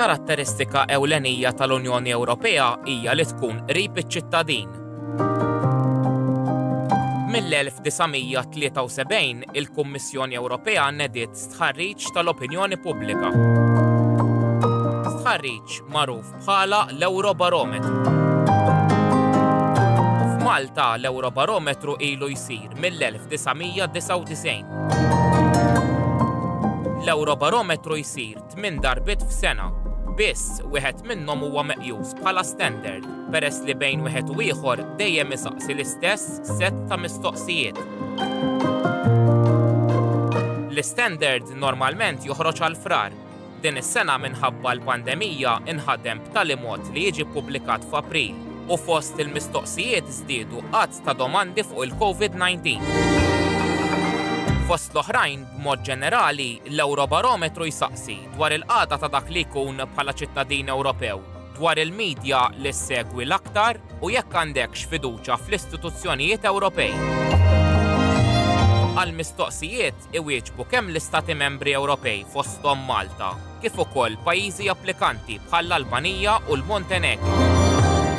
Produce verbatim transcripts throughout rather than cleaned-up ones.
Karatteristika ewlenija tal-Unjoni Ewropea hija li tkun qrib iċ-ċittadin. Mill-elf disa' mija tlieta u sebgħin il-Kummissjoni Ewropea nediet stħarriġ tal-opinjoni pubblika. Stħarriġ magħruf bħala l-Eurobarometru. F'Malta l-Eurobarometru ilu jsir mill-elf disa' mija disgħa u disgħin. L-Eurobarometru jsir tmien darbiet f'sena, biss wieħed minnhom huwa meqjus bħala standard, peress li bejn wieħed u ieħor dejjem isaqsi l-istess set ta' mistoqsijiet. L-istandard normalment joħroġ għal frar. Din is-sena minħabba l-pandemija inħadem b'tali mod li jiġi ppubblikat f'April u fost il-mistoqsijiet żdiedu għadd ta' domandi fuq il-COVID nineteen. Fost l-oħrajn, b'mod ġenerali, l-Eurobarometru jsaqsi dwar il-qagħda ta' dak li jkun bħala ċittadin Ewropew, dwar il-medja li ssegwi l-aktar u jekk għandekx fiduċja fl-istituzzjonijiet Ewropej. Għal-mistoqsijiet iwieġbu kemm l-Istati Membri Ewropej fosthom Malta, kif ukoll pajjiżi applikanti bħall-Albanija u l-Montenegro.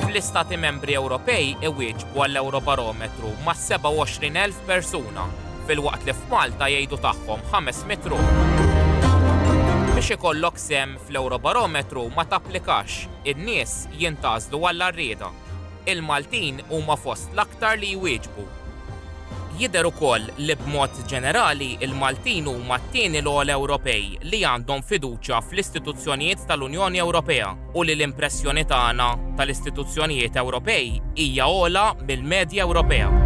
Fl-Istati Membri Ewropej iwieġbu għall-Eurobarometru ma' sebgħa u għoxrin elf persuna, filwaqt li f'Malta jgħidu tagħhom ħames mitt ruħ. Biex ikollok sehem fl-Eurobarometru ma tapplikax, in-nies jintgħażlu għall-arrieda. Il-Maltin huma fost l-aktar li jwieġbu. Jidher ukoll li b'mod ġenerali il-Maltin huma t-tieni l-ogħla Ewropej li għandhom fiduċja fl-istituzzjonijiet tal-Unjoni Ewropea u li l-impressjoni tagħna tal-istituzzjonijiet Ewropej hija ogħla mill-medja Ewropea.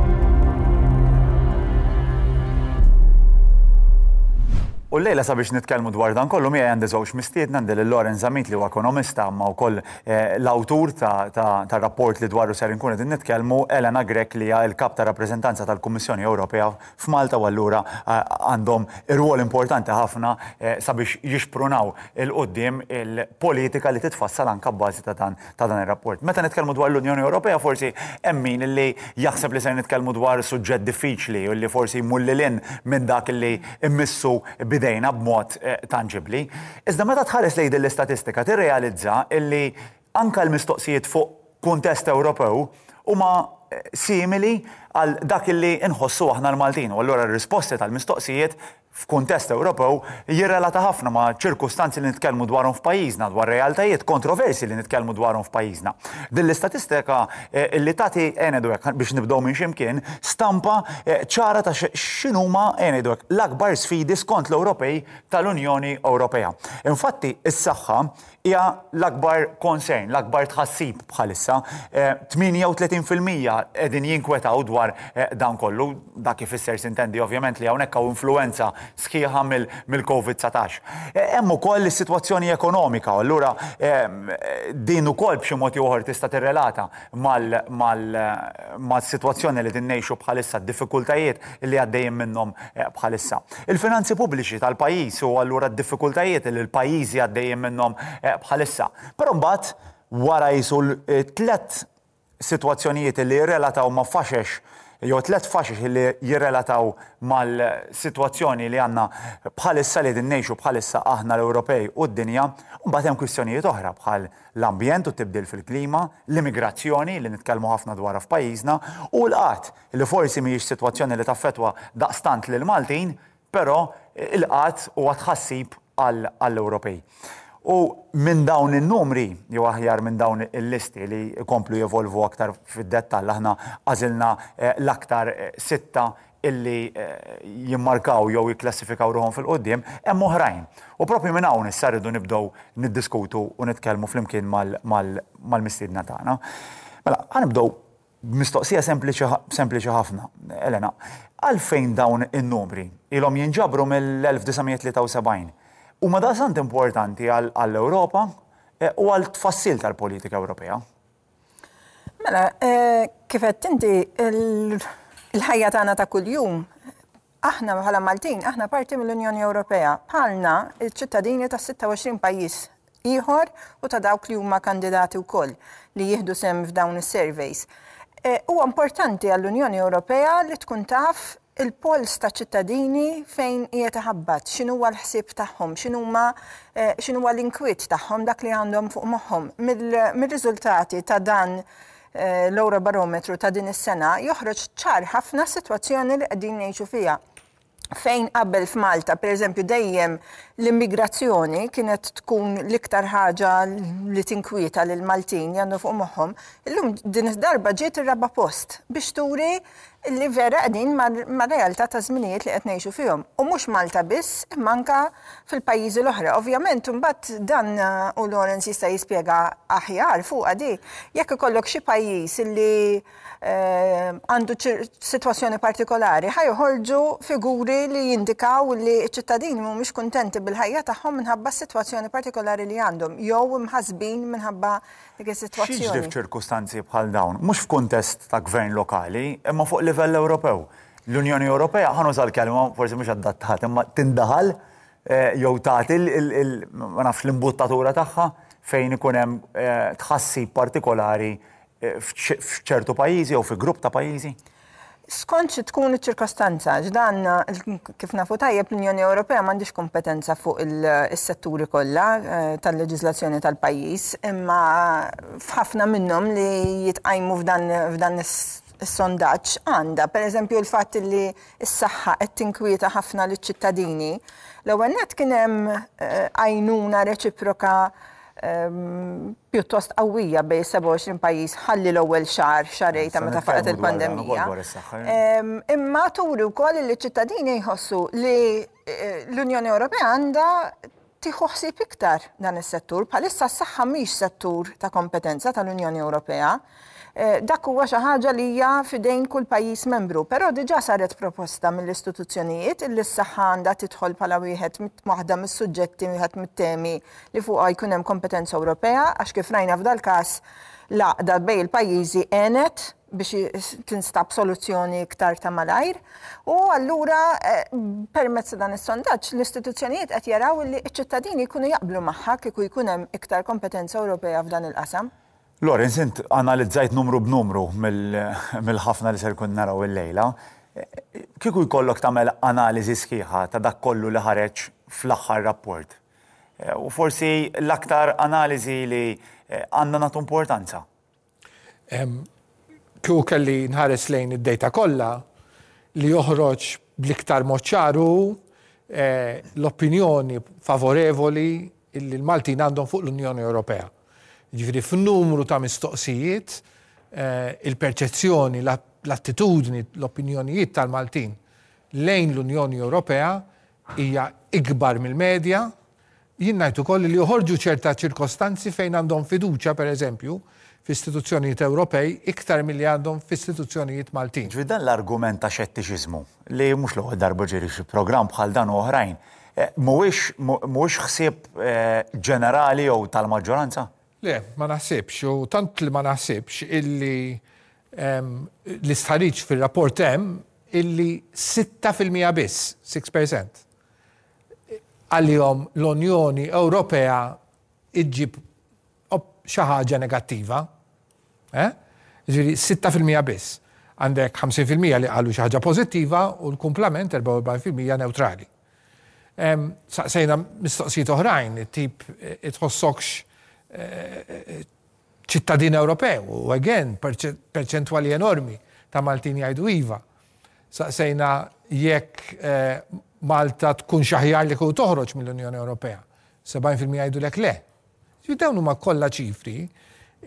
U llejla sabiex nitkellmu dwar dan kollu miegħi għandi żewġ mistiedna, għandi lil Lawrence Zammit li huwa ekonomista ma wkoll, eh, l-awtur ta', ta', ta' rapport li dwaru ser inkun qegħdin nitkellmu, Elena Grech li hija l-kap ta' rappreżentanza tal-Kummissjoni Ewropea f'Malta u allura, eh, għandhom irwol importanti ħafna, eh, sabiex jixprunaw il-qudiem il-politika li titfassal anke b'bażi ta' dan, ta' dan ir-rapport. Meta nitkellmu dwar l-Unjoni Ewropea forsi hemm min li jaħseb li ser nitkellmu dwar suġġett diffiċli u li forsi jmur lil hinn minn dak li immissu bidejna b'mod, eh, tanġibli. Iżda meta tħares lejn din l-istatistika tirrealizza illi anka l-mistoqsijiet fuq kuntest Ewropew huma, eh, simili għal dak illi nħossu aħna l-Maltin. U allura r-risposti tal-mistoqsijiet f'kuntest Ewropew jirrelata ħafna ma' ċirkustanzi li nitkellmu dwarhom f'pajjiżna, dwar realtajiet, kontroversi li nitkellmu dwarhom f'pajjiżna. Din l-istatistika, eh, li tagħti, eh, ngħidu hekk, biex nibdew minn x'imkien, stampa, eh, ċara ta' x-, x'inhuma, eh, ngħidu hekk, l-akbar sfidi skont l-Ewropej tal-Unjoni Ewropea. Infatti, is-saħħa hija l-akbar concern, l-akbar tħassib bħalissa. Eh, tmienja u tletin fil-mija qegħdin jinkwetaw dwar, eh, dan kollu, dak ifisser sintendi ovvjament li hawnhekk hawn influenza sħiħa mill-, mill-Covid dsatax. Eh, hemm ukoll is-sitwazzjoni ekonomika, u allura, ehm, din ukoll b'xi mod jew ieħor tista' tirrelata mal-, mal-, mas-sitwazzjoni li din ngħixu bħalissa, d-diffikultajiet li għaddejjin minnhom, eh, bħalissa. Il-finanzi pubbliċi tal-pajjiż u allura d-diffikultajiet li l-pajjiżi għaddejjin minnhom, eh, bħalissa. Però mbagħad wara jisu l-, eh, tliet sitwazzjonijiet li jirrelataw ma' faxex, jew tliet faxex li jirrelataw mal-sitwazzjoni li għandna bħalissa li din ngħixu bħalissa aħna l-Ewropej u d-dinja, u mbagħad hemm kwistjonijiet oħra bħal l-ambjent u tibdil fil-klima, l-immigrazzjoni li nitkellmu ħafna dwarha f'pajjiżna u l-qgħad li forsi mhijiex sitwazzjoni li taffettwa daqstant lil Maltin, però il-qgħad huwa tħassib għal-, għall-Ewropej. U minn dawn in-numri, jew aħjar minn dawn il-listi li jkomplu jevolvu aktar fid-dettall, aħna għażilna, eh, l-aktar, eh, sitta illi, eh, jimmarkaw jew jikklassifikaw ruħhom fil-qudiem, hemm oħrajn. U propju minn hawn issa rridu nibdew niddiskutu u nitkellmu flimkien mal-, mal-, mal-mistiedna tagħna. Mela, ħanibdew b'mistoqsija sempliċi ħa-, sempliċi ħafna. Elena, għalfejn dawn in-numri ilhom jinġabru mill-elf disa' mija tlieta u sebgħin? Huma daqstant importanti għal-, għall-Ewropa, eh, u għal tfassil tal-politika Ewropea? Mela, eh, kif qed inti il-, il-ħajja tagħna ta' kuljum, aħna bħala Maltin, aħna parti mill-Unjoni Ewropea, bħalna il-ċittadini ta' sitta u għoxrin pajjiż ieħor u ta' dawk li huma kandidati wkoll li jieħdu sehem f'dawn is-surveys. Eh, huwa importanti għall-Unjoni Ewropea li tkun taf il-pols ta' ċittadini fejn qiegħed iħabbat, x'inhuwa l-ħsieb tagħhom, x'inhuma eh, x'inhuwa l-inkwiet tagħhom, dak li għandhom fuq moħħhom. Mill-riżultati ta' dan eh, l-Eurobarometru ta' din is-sena joħroġ ċar ħafna sitwazzjoni li qegħdin ngħixu fiha, fejn qabel f'Malta, per eżempju, dejjem l-immigrazzjoni kienet tkun l-iktar ħaġa li tinkwieta lil Maltin jannu fuq moħħhom, illum din id-darba ġiet ir-raba' post biex turi li vera qegħdin ma' realtà ta' żminijiet li qed ngħixu fihom. U mhux Malta biss, imma anka fil-pajjiżi l-oħra. Ovvjament, imbagħad dan u Lawrence jista' jispjega aħjar fuq di. Jekk ikollok xi pajjiż li eh, għandu sitwazzjoni partikolari, ħa joħorġu figuri li jindikaw li ċ-ċittadini mhumiex kuntenti bil-ħajja tagħhom minħabba s-sitwazzjoni partikolari li għandhom, jew imħasbin minħabba dik is-sitwazzjoni. X'jiġri f'ċirkustanzi bħal dawn, mhux f'kuntest ta' gvern lokali, imma fuq livell Ewropew? L-Unjoni Ewropea, ħa nuża l-kelma, forsi mhux adattat, imma tindaħal eh, jew tagħti ma nafx l-imbuttatura tagħha fejn ikun hemm eh, tħassib partikolari eh, f'ċertu pajjiżi jew fi grupp ta' pajjiżi? Skont xi tkun iċ-ċirkostanza, x'dan kif nafu tajjeb, l-Unjoni Ewropea m'għandix kompetenza fuq is-setturi kollha tal-leġiżlazzjoni tal-pajjiż, imma f'ħafna minnhom li jitqajmu f'dan is-sondaġġ għandha. Per eżempju, l-fatt li s-saħħa qed tinkwieta ħafna liċ-ċittadini. L-ewwel nett kien hemm għajnuna reċiproka pjuttost qawwija bejn sebgħa u għoxrin pajjiż ħalli l-ewwel xahar, xahrejn ta' meta faqgħet il-pandemija. Imma turi wkoll li ċ-ċittadini jħossu li l-Unjoni Ewropea għandha tieħu ħsieb iktar dan is-settur. Bħalissa s-saħħa mhix settur ta' kompetenza tal-Unjoni Ewropea. Dak huwa xi ħaġa li hija f'idejn kull pajjiż membru, però diġà saret proposta mill-istituzzjonijiet li s-saħħa għandha tidħol bħala wieħed waħda mis-suġġetti, wieħed mit-temi li fuqha jkun hemm kompetenza Ewropea, għax kif rajna f'dal każ l-għaqda bejn il-pajjiżi għenet biex tinstab soluzzjoni iktar ta' malajr. U allura permezz dan is-sondaġġ l-istituzzjonijiet qed jaraw li ċ-ċittadini jkunu jaqblu magħha kieku jkun hemm iktar kompetenza Ewropea f'dan il-qasam. Lawrence, int analizzajt numru b'numru mill-ħafna li ser kun naraw il-lejla. Kieku jkollok tagħmel analiżi sħiħa ta' dak kollu li ħareġ fl-aħħar rapport, u forsi l-aktar analiżi li għandna nagħtu importanza. Kieku kelli nħares lejn id-data kollha, li joħroġ bl-iktar mod ċar hu l-opinjoni favorevoli li l-Maltin għandhom fuq l-Unjoni Ewropea. Ġifieri f'numru ta' mistoqsijiet, il-perċezzjoni, l-attitudni, l-opinjonijiet tal-Maltin lejn l-Unjoni Ewropea hija ikbar mill-medja. Jien ngħid ukoll li joħorġu ċerta ċirkostanzi fejn għandhom fiduċja, per eżempju, f'istituzzjonijiet Ewropej iktar milli għandhom f'istituzzjonijiet Maltin. Ġifieri dan l-argument ta' xettiċiżmu li mhux l-ewwel darba ġieri xi programm bħal dan u oħrajn, mhuwiex mhuwiex ħsieb ġenerali jew tal-maġġoranza? Le, ma naħsibx, u tant li ma naħsibx illi l-istħarriġ fil-rapport hemm illi sitta fil-mija biss, six percent, għalihom l-Unjoni Ewropea iġġib xi ħaġa negattiva. Eh? Ġifieri sitta fil-mija biss. Għandek ħamsin fil-mija li qalu xi ħaġa pożittiva u l-kumplament erbgħa u erbgħin fil-mija neutrali. Saqsejna mistoqsijiet oħrajn, tip itħossokx ċittadin Ewropew, u again, perċentwali enormi ta' Maltin jgħidu iva. Saqsejna jekk Malta tkun xaħjar li kieku toħroġ mill-Unjoni Ewropea. sebgħin fil-mija jgħidu lek le. Ġifieri dawn huma kollha ċifri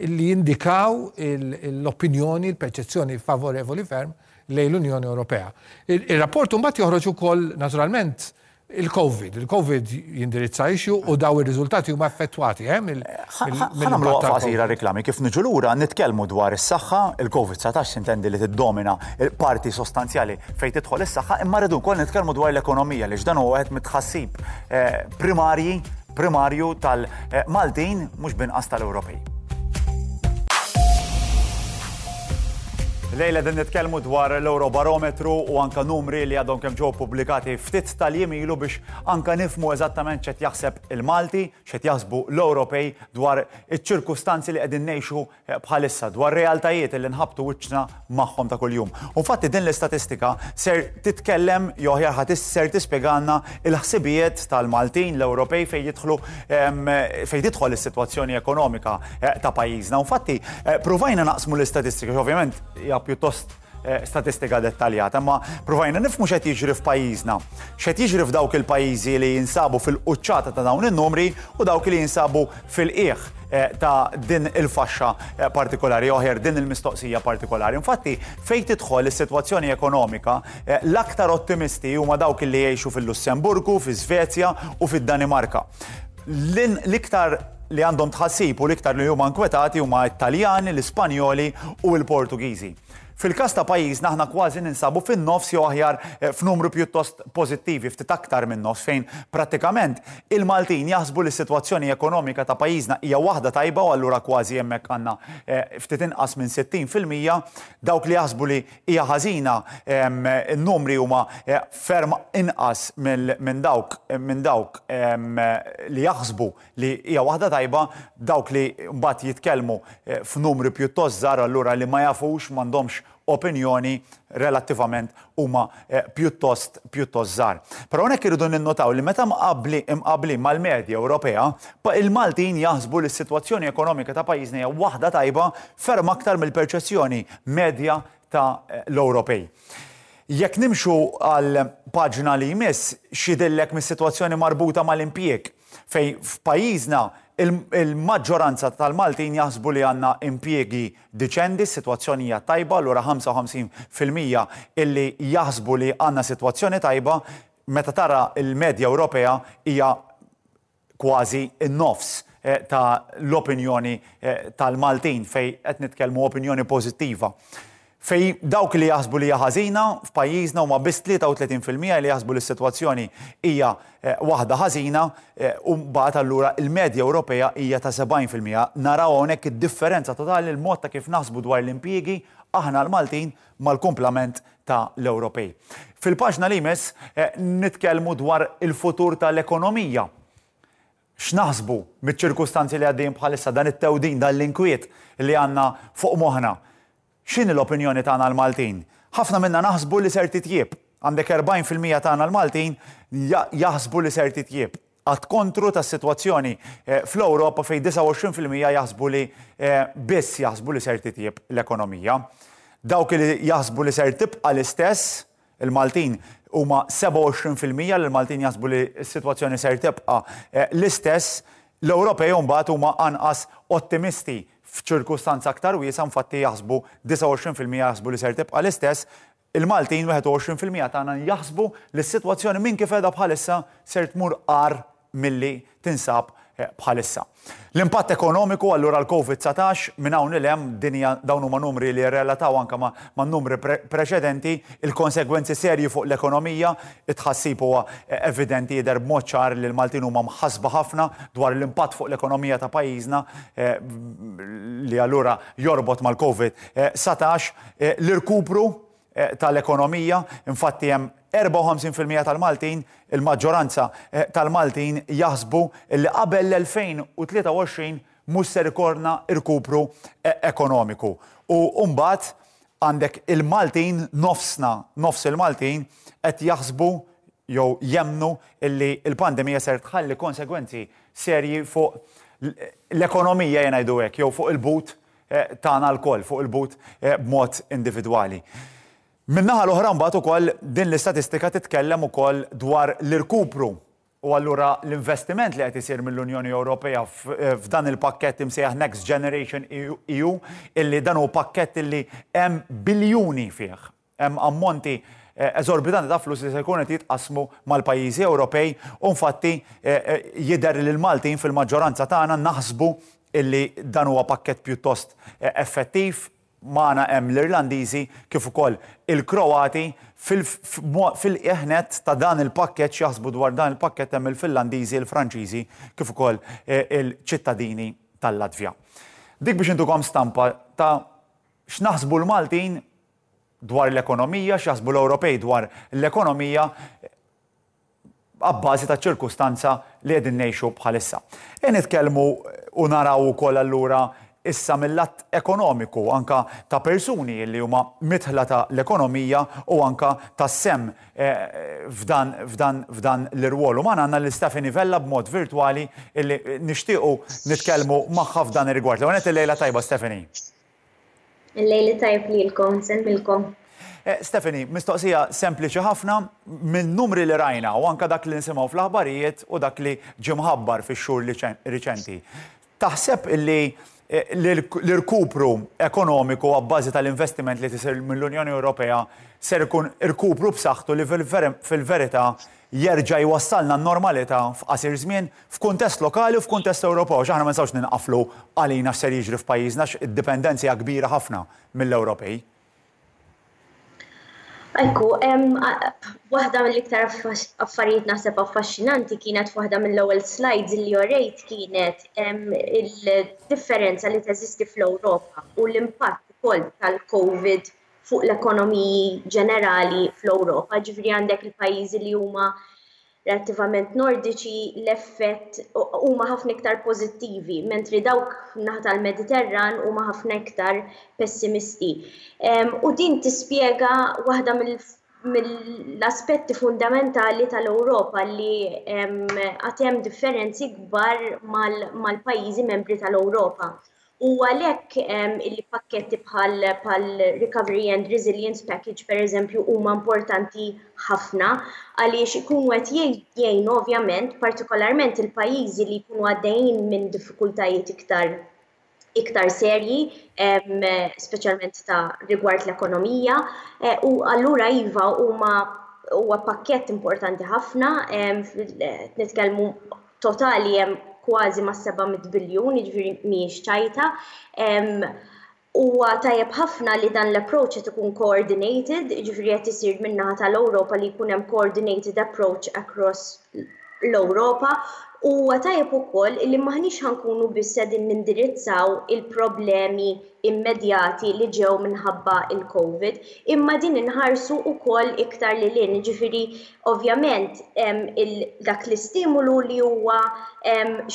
li jindikaw l-opinjoni, l-perċezzjoni favorevoli ferm lejn l-Unjoni Ewropea. Il-rapport imbagħad joħroġ ukoll naturalment il-Covid. Il-Covid jindirizza issue u daw ir-riżultati huma effettwati, eh, mill- Ħa mill- nagħmlu mill-impatt waqfa tal-Covid. qasira reklami kif niġu lura nitkellmu dwar is-saħħa, il-Covid dsatax sintendi li tiddomina parti sostanzjali fejn tidħol is-saħħa, imma rridu wkoll nitkellmu dwar l-ekonomija li x'dan huwa wieħed mit-tħassib, eh, primarji, primarju tal-Maltin mhux binqas tal-Ewropej. Illejla qed nitkellmu dwar l-Eurobarometru u anka numri li għadhom kemm ġew pubblikati ftit tal-jiem ilu biex anka nifhmu eżattament x'qed jaħseb il-Malti, x'qed jaħsbu l-Ewropej dwar iċ-ċirkustanzi li qegħdin ngħixu bħalissa, dwar realtajiet li nħabtu wiċċna magħhom ta' kuljum. U infatti din l-istatistika ser titkellem jew aħjar ħadd ser tispjegalna il-ħsibijiet tal-Maltin, l-Ewropej fejn jidħlu fejn tidħol is-sitwazzjoni ekonomika ta' pajjiżna. U infatti provajna naqsmu l-istatistika, ovvjament hija pjuttost statistika dettaljata, ma provajna nifhmu x'qed jiġri f'pajjiżna. X'qed jiġri f'dawk il-pajjiżi li jinsabu fil-quċċata ta' dawn in-numri u dawk li jinsabu fil-qiegħ ta' din il-faxxa partikolari, oħer din il-mistoqsija partikolari. Infatti, fejn tidħol is-sitwazzjoni ekonomika, l-aktar ottimisti huma dawk li jgħixu fil-Lussemburgu, fi-Svezja u fid-Danimarka. L-iktar li għandhom tħassib u l-iktar li huma inkwetati huma Italjani, l-Ispanjoli u l-Portugiżi. Fil-każ ta' pajjiżna aħna kważi ninsabu fin-nofs jew aħjar f'numru pjuttost pożittivi, ftit aktar minn nofs, fejn prattikament il-Maltin jaħsbu li s-sitwazzjoni ekonomika ta' pajjiżna hija waħda tajba u allura kważi hemmhekk għandna ftit inqas minn sittin fil-mija. Dawk li jaħsbu li hija ħażina, in-numri huma ferm inqas minn dawk, minn dawk li jaħsbu li hija waħda tajba, dawk li mbagħad jitkellmu f'numri pjuttost żgħar allura li ma jafux, m'għandhomx opinjoni relattivament huma pjuttost pjuttost żgħar. Però hawnhekk irridu ninnotaw li meta mqabbli imqabbli mal-medja Ewropea, il-Maltin jaħsbu li s-sitwazzjoni ekonomika ta' pajjiżna hija waħda tajba ferm aktar mill-perċezzjoni medja ta' l-Ewropej. Jekk nimxu għal paġna li jmiss, x'jidhirlek mis-sitwazzjoni marbuta mal-impjieg, fej f'pajjiżna il-maġġoranza tal-Maltin jaħsbu li għandna impjiegi diċendi, s-sitwazzjoni hija tajba, allura ħamsa u ħamsin fil-mija illi jaħsbu li għandna sitwazzjoni tajba, meta tara il-medja Ewropea hija kważi n-nofs ta' l-opinjoni tal-Maltin fej qed nitkellmu opinjoni pożittiva. Fej dawk li jaħsbu li hija ħażina f'pajjiżna huma biss tlieta u tletin fil-mija li jaħsbu li s-sitwazzjoni hija waħda ħażina, u mbagħad allura il-medja Ewropea hija ta' sebgħin fil-mija. Naraw hawnhekk id-differenza totali l-mod ta' kif naħsbu dwar l-impjiegi aħna l-Maltin mal-kumplament ta' l-Ewropej. Fil-paġna li jmiss nitkellmu dwar il-futur tal-ekonomija. X'naħsbu miċ-ċirkustanzi li għaddejjin bħalissa, dan it-tewdin, dan l-inkwiet li għandna fuq moħħna? X'inhi l-opinjoni tagħna l-Maltin? Ħafna minna naħsbu li ser titjieb. Għandek erbgħin fil-mija tagħna l-Maltin jaħsbu li ser titjieb. Għad kontru tas-sitwazzjoni fl-Ewropa fejn disgħa u għoxrin fil-mija jaħsbu li biss jaħsbu li ser titjieb l-ekonomija. Dawk li jaħsbu li ser tibqa' l-istess, il-Maltin huma sebgħa u għoxrin fil-mija li l-Maltin jaħsbu li s-sitwazzjoni ser tibqa' l-istess. L-Ewropej mbagħad huma anqas ottimisti f'ċirkustanza aktar wiesgħa, infatti jaħsbu disgħa u għoxrin fil-mija jaħsbu li ser tibqa' l-istess. Il-Maltin wieħed u għoxrin fil-mija tagħna jaħsbu li s-sitwazzjoni minn kif qiegħda bħalissa ser tmur agħar milli tinsab bħalissa. L-impatt ekonomiku allura l-Covid dsatax minn hawn il hemm dinja dawn huma numri li jirrelataw anke ma', ma' numri pre-, preċedenti, il-konsegwenzi serji fuq l-ekonomija, it-tħassib huwa evidenti jidher b'mod ċar li l-Maltin huma mħassba ħafna dwar l-impatt fuq l-ekonomija ta' pajjiżna, eh, li allura jorbot mal-Covid dsatax, eh, l-irkupru, eh, tal-ekonomija, infatti hemm erbgħa u ħamsin fil-mija tal-Maltin, il-maġġoranza, eh, tal-Maltin jaħsbu li qabel l-elfejn u tlieta u għoxrin mhux ser ikorna irkupru, eh, ekonomiku. U mbagħad għandek il-Maltin, nofsna, nofs il-Maltin qed jaħsbu jew jemnu illi l-pandemija ser tħalli konsegwenzi serji fuq l-ekonomija, jien ngħidu hekk, jew fuq il-but, eh, tagħna lkoll, fuq il-but, eh, b'mod individwali. Min-naħa l-oħra mbagħad ukoll din l-istatistika titkellem ukoll dwar l-irkupru u allura l-investiment li qed isir mill-Unjoni Ewropea f-, f'dan il-pakkett imsejjaħ Next Generation E U, illi dan hu pakkett illi hemm biljuni fih, hemm ammonti, eh, eżorbitanti ta' flus li se jkunu qed jitqasmu mal-pajjiżi Ewropej, u infatti, eh, eh, jidher li l-Maltin fil-maġġoranza tagħna naħsbu illi dan huwa pakkett pjuttost, eh, effettiv. Magħna hemm l-Irlandiżi kif ukoll il-Kroati fil-qiegħnet ta' dan il-pakkett jaħsbu dwar dan il-pakkett hemm il-Finlandiżi, il-Franċiżi kif ukoll, eh, il-ċittadini tal-Latvja. Dik biex intukom stampa ta' x'naħsbu l-Maltin dwar l-ekonomija, x'jaħsbu l-Ewropej dwar l-ekonomija abbażi ta' ċirkustanza li qegħdin ngħixu bħalissa. E nitkellmu u naraw ukoll allura issa mill-lat ekonomiku anka ta' persuni li huma midħla ta' l-ekonomija u anka ta' sehem eh, f'dan f'dan f'dan l-irwol. U magħna għandna lil Stephanie Vella b'mod virtwali illi nixtiequ nitkellmu magħha f'dan ir-rigward. L-ewwel il-lejla tajba, Stephanie. Il-lejli tajb lilkom, insellmilkom. Eh, Stephanie, mistoqsija sempliċi ħafna minn numri li rajna u anka dak li nisimgħu fl-aħbarijiet u dak li ġie mħabbar fix-xhur riċenti. Taħseb illi eh, l-irkupru ekonomiku għabbażi tal-investiment li tisir mill-Unjoni Ewropea ser ikun irkupru b'saħħtu li fil-verità jerġa' jwassalna n-normalità f'qasir żmien f'kuntest lokali u f'kuntest Ewropew? Aħna ma nistgħux ninqaflu għalina x'ser jiġri f'pajjiżna, id-dipendenza hija kbira ħafna mill-Ewropej. Ekku, waħda mill-iktar affarijiet naħseb affaxxinanti kienet waħda mill-ewwel slides li orejt, kienet il-differenza li teżisti fl-Ewropa u l-impatt ukoll tal-Covid fuq l-ekonomiji ġenerali fl-Ewropa. Ġifieri għandek il-pajjiżi li huma relattivament nordiċi, l-effett huma ħafna iktar pożittivi, mentri dawk naħa tal-Mediterran huma ħafna iktar pessimisti. U din tispjega waħda mill-aspetti fundamentali tal-Ewropa, li għad hemm differenzi kbar mal-pajjiżi membri tal-Ewropa. U għalhekk il-pakketti bħal Recovery and Resilience Package, per eżempju, huma importanti ħafna għaliex ikunu qed jgħinu ovvjament partikolarment il-pajjiżi li jkunu għaddejjin minn diffikultajiet iktar iktar serji, speċjalment ta' rigward l-ekonomija, eh, u allura iva, huma huwa pakkett importanti ħafna. Nitkellmu totali hemm kważi ma' seba' mitt biljun, jiġifieri mhijiex ċajta. Huwa tajjeb ħafna li dan l-approach qed ikun coordinated, jiġifieri qed isir min-naħa tal-Ewropa li jkun hemm coordinated approach across l-Ewropa. Huwa tajjeb ukoll li m'aħniex ħa nkunu biss qegħdin nindirizzaw il-problemi immedjati li ġew minħabba il-Covid, imma din inħarsu ukoll iktar lil hinn. Ġifieri ovvjament dak l-istimulu li huwa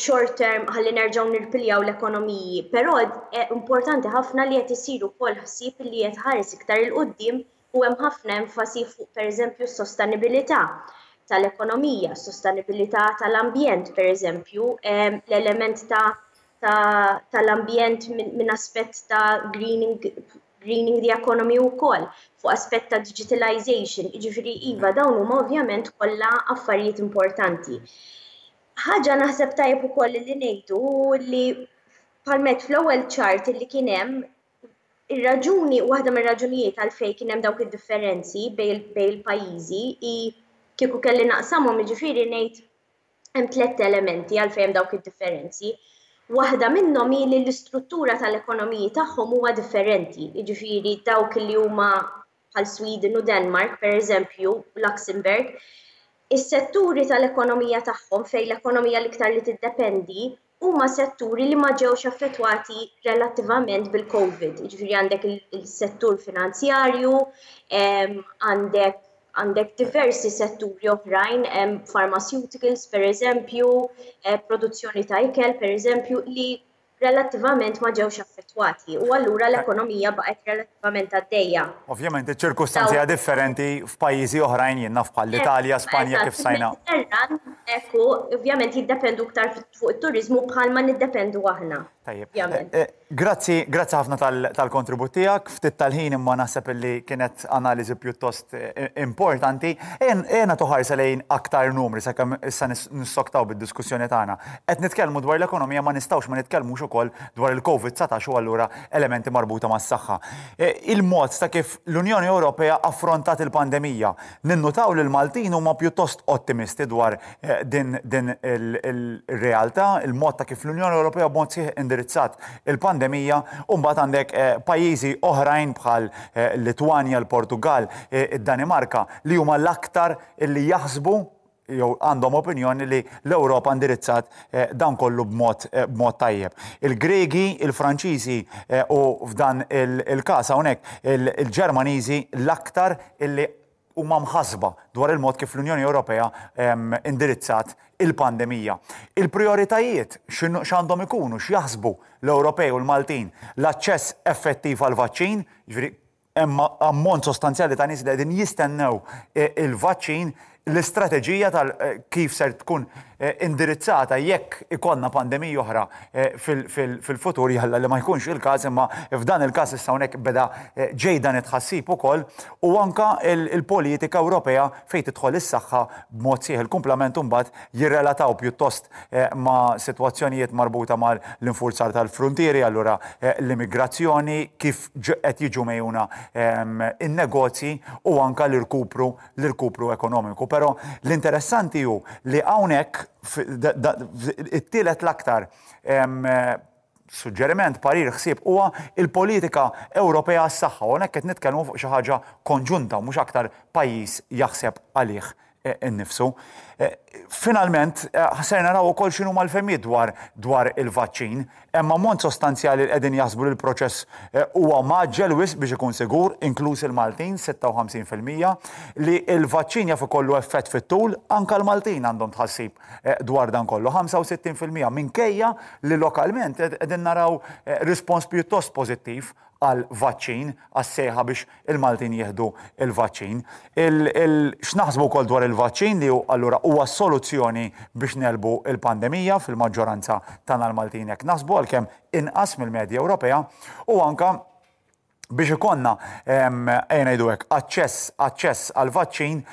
short term ħalli nerġgħu nirpiljaw l-ekonomiji, però eh, importanti ħafna li qed isir ukoll ħsieb li qed ħares iktar 'il quddiem u hemm ħafna enfasi fuq, pereżempju, s-sostenibilità tal-ekonomija, sostenibilità tal-ambjent, per eżempju, l-element ta' tal-ambjent minn aspett ta' greening, greening the economy u koll, fuq aspett ta' digitalization, ġifieri iva, dawn huma ovvjament kollha affarijiet importanti. Ħaġa naħseb tajjeb ukoll li ngħidu li palmet fl-ewwel chart li kien hemm ir-raġuni, waħda mir-raġunijiet għalfejn kien hemm dawk id-differenzi bejn il-pajjiżi i kieku kelli naqsamhom, jiġifieri ngħid hemm tliet elementi għalfejn hemm dawk id-differenzi. Waħda minnhom hi li l-istruttura tal-ekonomiji tagħhom huwa differenti, jiġifieri dawk li huma bħal Sweden u Denmark, per eżempju, Luxembourg, is-setturi tal-ekonomija tagħhom fejn l-ekonomija l-iktar li tiddependi huma setturi li ma ġewx affettwati relattivament bil-Covid. Jiġifieri għandek il-settur finanzjarju, għandek għandek diversi setturi oħrajn, pharmaceuticals per eżempju, eh, produzzjoni ta' ikel per eżempju, li relattivament ma ġewx affettwati u allura l-ekonomija baqgħet relattivament għaddejja. Ovvjament iċ-ċirkustanzi differenti f'pajjiżi oħrajn, jien naf bħal l-Italja, Spanja, kif sajna. Ekku, ovvjament jiddependu iktar fuq it-turizmu bħalma niddependu aħna. Tajjeb. Eh, eh, grazzi, grazzi ħafna tal-kontribut tiegħek, ftit tal-ħin imma naħseb li kienet analiżi pjuttost eh, importanti. Ejja nagħtu ħarsa lejn aktar numri sakemm issa nissoktaw bid-diskussjoni tagħna. Qed nitkellmu dwar l-ekonomija, ma nistgħux ma nitkellmux ukoll dwar il-Covid dsatax u allura elementi marbuta mas-saħħa. Il-mod ta' kif l-Unjoni Ewropea affrontat il-pandemija. Ninnutaw li l-Maltin huma pjuttost ottimisti dwar din din il-realtà, il-mod ta' kif l-Unjoni Ewropea b'mod sħiħ indirizzat il-pandemija, u mbagħad għandek eh, pajjiżi oħrajn bħal eh, Litwanja, l-Portugal, eh, id-Danimarka li huma l-aktar li jaħsbu jew għandhom opinjoni li l-Ewropa indirizzat eh, dan kollu b'mod eh, b'mod tajjeb. Il-Gregi, il-Franċiżi eh, u f'dan il-każ hawnhekk il-Ġermaniżi l-aktar illi huma mħasba dwar il-mod kif l-Unjoni Ewropea indirizzat il-pandemija. Il-prioritajiet x'għandhom ikunu, x'jaħsbu l-Ewropej u l-Maltin, l-aċċess effettiv għal-vaċċin, ġifieri hemm ammont sostanzjali ta' nies li qegħdin jistennew il-vaċċin, l-istrateġija tal kif ser tkun indirizzata jekk ikollna pandemija oħra fil-futur, jalla li ma jkunx il-każ, imma f'dan il-każ issa hawnhekk beda ġej dan it-tħassib ukoll, u anka il-politika Ewropea fejn tidħol is-saħħa b'mod sieħ. Il-kumplament imbagħad jirrelataw pjuttost ma' sitwazzjonijiet marbuta mal-infurzar tal-frontieri, allura l-immigrazzjoni, kif qed jiġu mejjuna in-negozji u anka l-irkupru l-irkupru ekonomiku. Però l-interessanti hu li hawnhekk it-tielet l-aktar suġġeriment, parir, ħsieb huwa il-politika Ewropea għas-saħħa. Hawnhekk qed nitkellmu fuq xi ħaġa konġunta, mhux aktar pajjiż jaħseb għalih innifsu. Finalment, ser naraw ukoll x'inhu mal-fehmiet dwar dwar il-vaċċin. Hemm ammont sostanzjali li qegħdin jaħsbu li l-proċess huwa mgħaġġel wisq biex ikun sigur, inkluż il-Maltin, sitta u ħamsin fil-mija, li l-vaċċin jaf ikollu effett fit-tul, anka l-Maltin għandhom tħassib dwar dan kollu, ħamsa u sittin fil-mija, minkejja li lokalment qegħdin naraw rispons pjuttost pożittiv għal vaċċin, għas-sejħa biex il-Maltin jieħdu il-vaċċin. X'naħsbu wkoll dwar il-vaċċin li allura huwa soluzzjoni biex negħlbu il-pandemija, fil-maġġoranza tagħna l-Maltin hekk naħsbu, għalkemm inqas mill-medja Ewropea, u anka biex ikollna, ejja ngħidu hekk, aċċess aċċess għal vaċċin,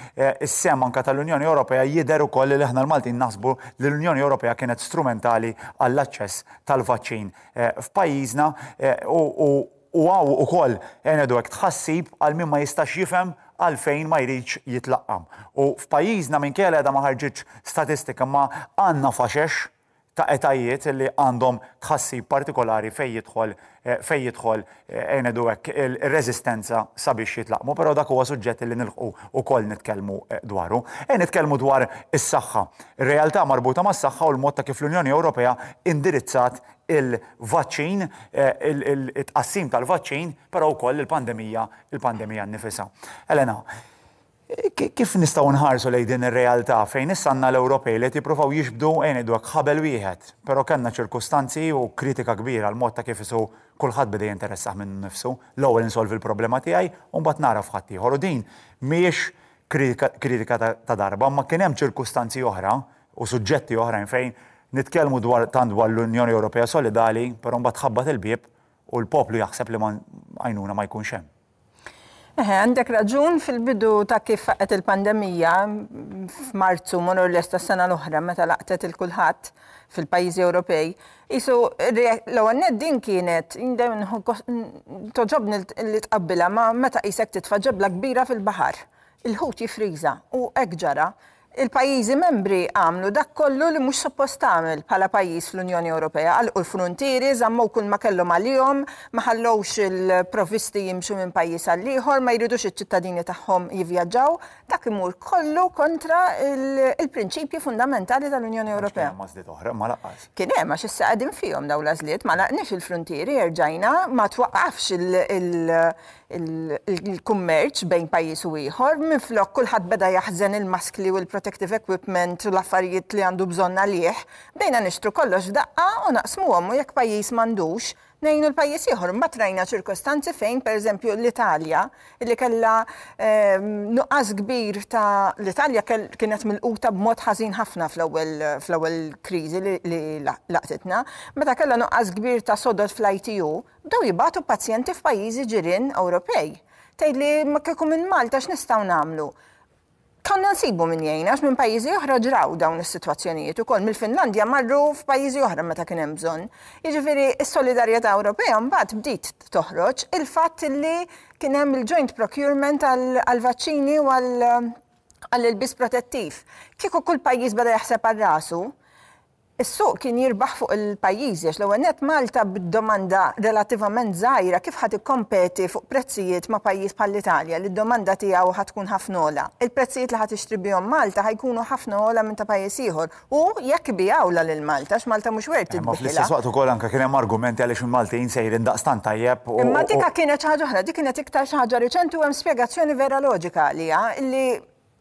is-sehem anka tal-Unjoni Ewropea jidher ukoll li aħna l-Maltin naħsbu li l-Unjoni Ewropea kienet strumentali għall-aċċess tal-vaċċin f'pajjiżna, u u hawn ukoll, ejja ngħidu hekk, tħassib għal min ma jistax jifhem għalfejn ma jridx jitlaqqam. U f'pajjiżna, minkejja li għadha ma ħarġitx statistika, ma għandna faxex ta' etajiet li għandhom tħassib partikolari fej jidħol fej jidħol ejja ngħidu hekk, il-reżistenza sabiex jitlaqmu, però dak huwa suġġett li nilħqu ukoll nitkellmu dwaru. Ejja nitkellmu dwar is-saħħa. Ir-realtà marbuta mas-saħħa u l-mod ta' kif l-Unjoni Ewropea indirizzat il-vaċċin, il-tqassim tal-vaċċin, però wkoll il-pandemija, il-pandemija nnifisha. Elena, kif nistgħu nħarsu lejn din ir-realtà fejn issa għandna l-Ewropej li qed jippruvaw jiġbdu, ejja ngħidu hekk, ħabel wieħed, però kellna ċirkustanzi u kritika kbira għal mod ta' kif isu kulħadd beda jinteressah minn nifsu, l-ewwel insolvi l-problema tiegħi u mbagħad nara f'ħadd ieħor. U din mhijiex kritika ta' darba, ma kien hemm ċirkustanzi oħra u suġġetti oħrajn fejn nitkellmu dwar tant dwar l-Unjoni Ewropea solidali, però mbagħad tħabbat il-bieb u l-poplu jaħseb li għajnuna ma jkunx hemm. Eħe, għandek raġun. Fil-bidu ta' kif faqqet il-pandemija, f'Marzu more or less tas-sena l-oħra, meta laqtet lil kulħadd fil-pajjiżi Ewropej, isu l-ewwel din kienet, togħġobni li tqabbilha ma' meta qisek titfa' ġebla kbira fil-baħar. Il-ħut jifriża u hekk ġara. Il-pajjiżi membri għamlu dak kollu li mhux suppost tagħmel bħala pajjiż fl-Unjoni Ewropea. Għalqu l-frontieri, żammew kull ma kellhom għalihom, ma ħallewx il-provvisti jimxu minn pajjiż għal ieħor, ma jridux iċ-ċittadini tagħhom jivvjaġġaw. Dak imur kollu kontra il-prinċipji fundamentali tal-Unjoni Ewropea. Oħra, ma lanqas. Kien hemm, għax issa qegħdin fihom dawn l-għażliet, ma għalaqniex il-frontieri, erġajna, ma twaqqafx il-kummerċ bejn pajjiż u ieħor, minflok kulħadd beda jaħżen il-maskli u l-protective equipment u l-affarijiet li għandu bżonn għalih, bdejna nixtru kollox f'daqqa u naqsmuhom, u jekk pajjiż m'għandux, ngħinu l-pajjiż ieħor. Mbagħad rajna ċirkostanzi fejn, pereżempju, l-Italja, li kellha nuqqas kbir ta' l-Italja kienet milquta b'mod ħażin ħafna fl-ewwel fl-ewwel kriżi li laqtitna, meta kellha nuqqas kbir ta' sodod fl-I T U, bdew jibagħtu pazjenti f'pajjiżi ġirien Ewropej. Tgħidli ma kieku minn Malta x'nistgħu nagħmlu? Konna nsibu minn jgħinna, minn pajjiżi oħra ġraw dawn is-sitwazzjonijiet ukoll, mill-Finlandja marru f'pajjiżi oħra meta kien hemm bżonn. Jiġifieri s-solidarjetà Ewropea mbagħad bdiet toħroġ, il-fatt li kien hemm il-joint procurement għall-vaċċini u għall-ilbies protettiv. Kieku kull pajjiż beda jaħseb għal rasu, Is-suq kien jirbaħ fuq il-pajjiżi, għax l-ewwel nett Malta bid-domanda relattivament żgħira kif ħa tikkompeti fuq prezzijiet ma' pajjiż bħall-Italja li d-domanda tiegħu ħa tkun ħafna ogħla? Il-prezzijiet li ħa tixtri bihom Malta ħa jkunu ħafna ogħla minn ta' pajjiż ieħor. U jekk ibigħulha lil Malta, għax Malta mhux worth Ma fl-istess waqt ukoll anke kien hemm argumenti għaliex il-Maltin sejrin daqstant tajjeb. Imma dika kienet xi ħaġa oħra, dik kienet iktar xi ħaġa riċenti u hemm spjegazzjoni vera loġika għaliha, illi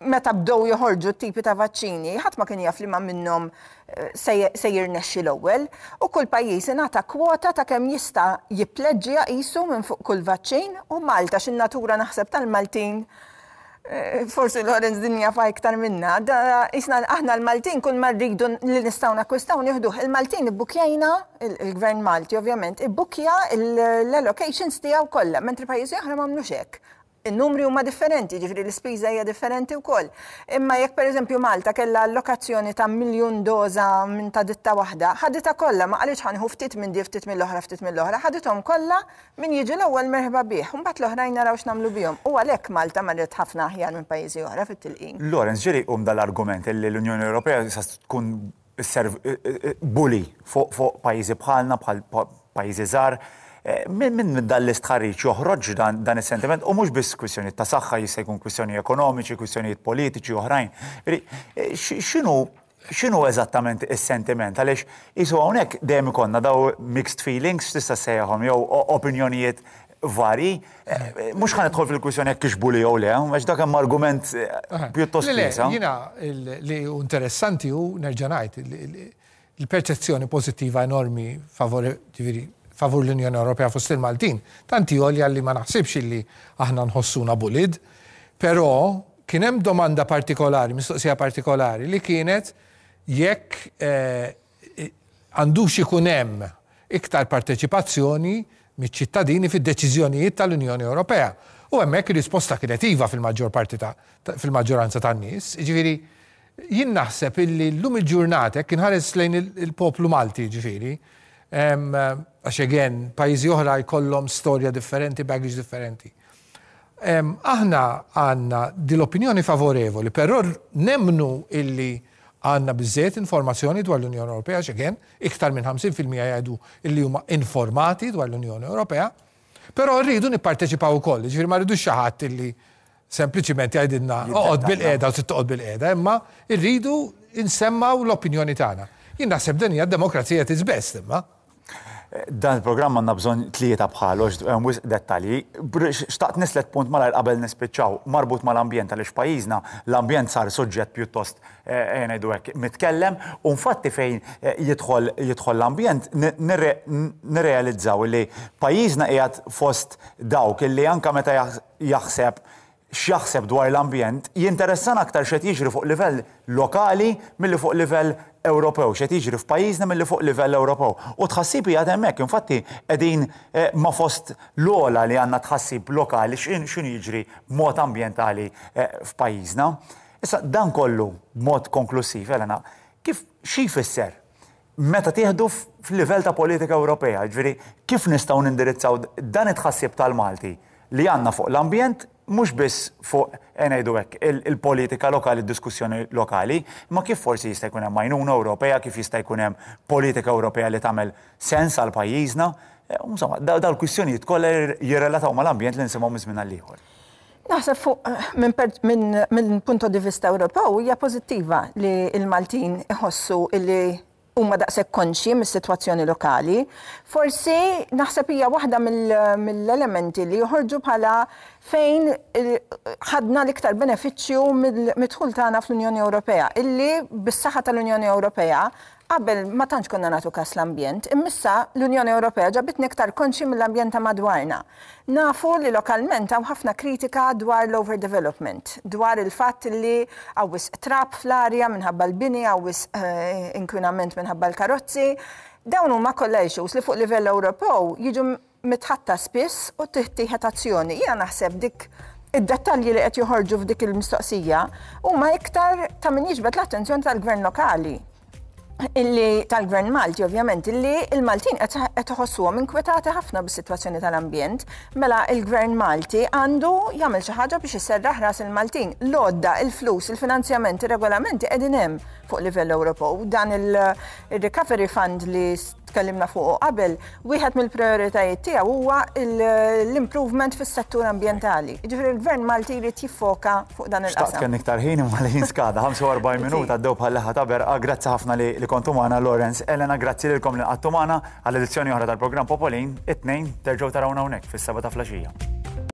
meta bdew joħorġu t-tipi ta' vaċċini, ħadd ma kien jaf li ma minnhom eh, se jirnexxi l-ewwel, u kull pajjiż ingħata kwota ta' kemm jista' jippleġġja qisu minn fuq kull vaċċin, u Malta, x'in-natura naħseb tal-Maltin, eh, forsi Lorenz din jafha iktar minna, aħna l-Maltin kull ma rridu li nistgħu nakkwistaw nieħduh. Il-Maltin ibbukjajna, il-Gvern Malti ovvjament, ibbukja l-allocations tiegħu kollha, mentri pajjiżi oħra m'għamlux hekk. Il-numri huma differenti, ġifieri l-ispiża hija differenti wkoll. Imma jekk, pereżempju, Malta kellha allokazzjoni ta' miljun doża minn ta' ditta waħda, ħaditha kollha, ma qalitx ħa nieħu ftit minn di, ftit mill-oħra, ftit mill-oħra, ħadithom kollha, min jiġi l-ewwel merħba bih, mbagħad l-oħrajn naraw x'nagħmlu bihom. U għalhekk Malta marret ħafna aħjar minn pajjiżi oħra fit-tilqim. Lorenz, ġieli jqum dal-argument li l-Unjoni Ewropea sa tkun bully fuq pajjiżi bħalna, bħal pajjiżi żgħar. Eh, minn min dan l-istħarriġ joħroġ dan is-sentiment, u mhux biss kwistjoni ta' saħħa, jista' jkun kwistjoni ekonomiċi, kwistjonijiet politiċi oħrajn. Eh, x'inhu x'inhu eżattament is-sentiment? Għaliex qisu hawnhekk dejjem ikollna daw mixed feelings, tista' ssejjaħhom, jew opinjonijiet vari. Eh, mhux ħa nidħol fil-kwistjoni jekk bully jew le, għax dak hemm argument pjuttost. Wiesa'. Jiena li interessanti hu, nerġa' ngħid, il-perċezzjoni pożittiva enormi favor, ġifieri, favur l-Unjoni Ewropea fost il-Maltin. Tanti għolja li ma naħsibx li aħna nħossuna bullied, però kien hemm domanda partikolari, mistoqsija partikolari li kienet jekk eh, għandux ikun hemm iktar parteċipazzjoni miċ-ċittadini fid-deċiżjonijiet tal-Unjoni Ewropea. U hemmhekk ir-risposta kienet iva fil-maġġor parti ta' fil-maġġoranza tan-nies. Ġifieri, jien naħseb illi llum il-ġurnata kien ħares lejn il-poplu Malti, ġifieri, għax again, pajjiżi oħra jkollhom storja differenti, baggage differenti. Aħna għandna dil-opinjoni favorevoli, però nemnu illi għandna biżżejjed informazzjoni dwar l-Unjoni Ewropea, għax again, iktar minn ħamsin fil-mija jgħidu illi huma informati dwar l-Unjoni Ewropea, però rridu nipparteċipaw ukoll, ġifieri ma rridux xi ħadd illi sempliċiment jgħidilna oqgħod bil-qiegħda u toqgħod bil-qiegħda, imma rridu insemmgħu l-opinjoni tagħna. Jien naħseb din hija demokrazija at its best, imma. Dan il-programm għandna bżonn tlieta bħalu, hemm wisq dettalji. Xtaqt nislet punt malajr qabel nispiċċaw, marbut mal-ambjent, għaliex pajjiżna l-ambjent sar suġġett pjuttost, eh, ngħidu hekk, mitkellem, u infatti fejn eh, jidħol jidħol l-ambjent nirrealizzaw li pajjiżna qiegħed fost dawk illi anka meta jaħseb x'jaħseb dwar l-ambjent, jinteressana aktar x'qed jiġri fuq livell lokali milli fuq livell Ewropew, x'qed jiġri f'pajjiżna milli fuq livell Ewropew. U tħassib hija hemmhekk, infatti qegħdin eh, ma fost l-ogħla li għandna tħassib lokali x'inhu jiġri b'mod ambjentali eh, f'pajjiżna. Issa dan kollu b'mod konklusiv, Elena, kif xi jfisser meta tieħdu f'livell ta' politika Ewropea, ġifieri kif nistgħu nindirizzaw dan it-tħassib tal-Malti li għandna fuq l-ambjent, mhux biss fuq, ngħidu hekk, il-politika lokali, diskussjoni lokali, ma kif forsi jista' jkun hemm għajnuna Ewropea, kif jista' jkun hemm politika Ewropea li tagħmel sens għal pajjiżna. Eh, insomma, dal-kwistjonijiet kollha jirrelataw mal-ambjent li nisimgħu minn żmien għal ieħor. Naħseb fuq minn min, min punto di vista Ewropew hija pożittiva li l-Maltin iħossu li huma daqshekk konxji mis-sitwazzjoni lokali. Forsi naħseb hija waħda mill-elementi li joħorġu bħala fejn ħadna l-iktar benefiċċju mid-dħul tagħna fl-Unjoni Ewropea, illi bis-saħħa tal-Unjoni Ewropea qabel ma tantx konna nagħtu kas l-ambjent, imma l-Unjoni Ewropea ġabitni iktar konxi mill-ambjent ta' madwarna. Nafu li lokalment hawn ħafna kritika dwar l-overdevelopment, dwar il-fatt li hawn wisq trab fl-arja minħabba l-bini, hawn wisq eh, inkwinament minħabba l-karozzi. Dawn huma kollha issues li fuq livell Ewropew jiġu mitħaddta spiss u tittieħed azzjoni. Jiena naħseb dik id-dettalji li qed joħorġu f'dik il-mistoqsija huma iktar ta' min jiġbed l-attenzjoni tal-gvern lokali. Illi tal-Gvern Malti, ovvjament, illi il-Maltin qed iħossuhom inkwetati ħafna bis-sitwazzjoni tal-ambjent, mela il-Gvern Malti għandu jagħmel xi ħaġa biex iserraħ ras il-Maltin. L-għodda, il-flus, il-finanzjament, ir-regolamenti qegħdin hemm fuq livell Ewropew. Dan il-Recovery Fund li tkellimna fuq qabel, wieħed mill-prioritajiet tiegħu huwa l-improvement fis-settur ambjentali. Jiġifieri l-Gvern Malti jrid jiffoka fuq dan il-qasam. Xtaqt kien iktar ħin, imma l-ħin skada, ħamsa u erbgħin minuta għaddew bħal leħħa ta' berqa. Grazzi ħafna li kontu magħna, Lawrence, Elena, grazzi lilkom li qgħadtu magħna għall edizzjoni oħra tal-programm Popolin. It-Tnejn terġgħu tarawna hawnhekk fis-seba ta' filgħaxija.